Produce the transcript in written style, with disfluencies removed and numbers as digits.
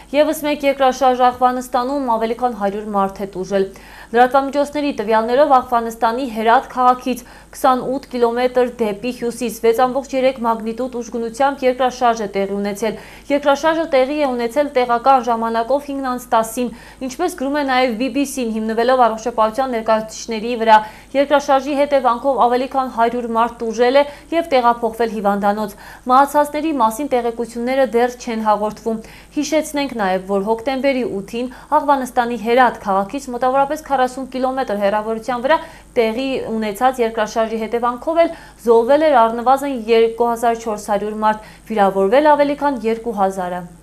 Եվս մեկ երկրաշարժ Աղվանստանում ավելի քան 100 մարդ է տուժել։ Լրատվամիջոցների տվյալներով Աղվանստանի Հերաթ քաղաքից 28 կիլոմետր դեպի հյուսիս 6.3 մագնիտուդ ուժգնությամբ երկրաշարժ է տեղի ունեցել։ Երկրաշարժը տեղի է ունեցել տեղական ժամանակով 5:10-ին, ինչպես գրում է նաև BBC-ն, հիմնվելով առողջապահության ներկայացուցիչների վրա։ Երկրաշարժի հետևանքով ավելի քան 100 մարդ տուժել է և տեղափոխվել հիվանդանոց։ Մահացածների մասին տեղեկությունները դեռ չեն հաղորդվում։ Հիշեցնենք նաև, որ հոկտեմբերի 8-ին Աղվանստանի Հերաթ քաղաքից մոտավորապես 40 կիլոմետր հեռավորության վրա տեղի ունեցած երկրաշարժի հետևանքով էլ զոհվել էր առնվազն 2400 մարդ, վիրավորվել ավելի քան 2000-ը։